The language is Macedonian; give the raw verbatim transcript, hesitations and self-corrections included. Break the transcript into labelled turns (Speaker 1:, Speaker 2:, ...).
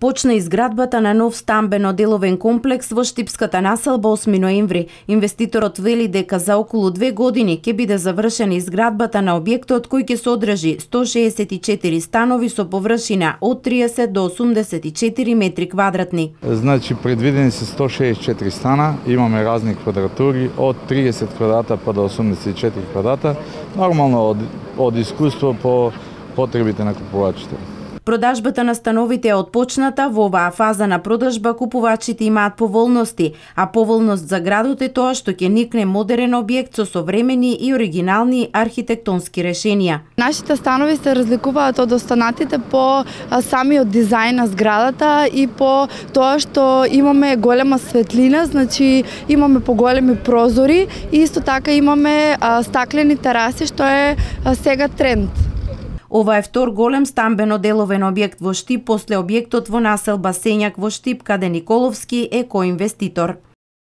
Speaker 1: Почна изградбата на нов стамбено-деловен комплекс во Штипската населба осми ноември. Инвеститорот вели дека за околу две години ќе биде завршена изградбата на објектот кој ќе содржи сто шеесет и четири станови со површина од триесет до осумдесет и четири метри квадратни.
Speaker 2: Значи предвидени се сто шеесет и четири стана, имаме разни квадратури од триесет квадрата па до осумдесет и четири квадрата, нормално од, од искуство по потребите на купувачите.
Speaker 1: Продажбата на становите е отпочната. Во оваа фаза на продажба купувачите имаат поволности, а поволност за градот е тоа што ќе никне модерен објект со современи и оригинални архитектонски решенија.
Speaker 3: Нашите станови се разликуваат од останатите по самиот дизајн на зградата и по тоа што имаме голема светлина, значи имаме поголеми прозори и исто така имаме стаклени тераси што е сега тренд.
Speaker 1: Ова е втор голем стамбено-деловен објект во Штип после објектот во населба Сењак во Штип, каде Николовски е коинвеститор.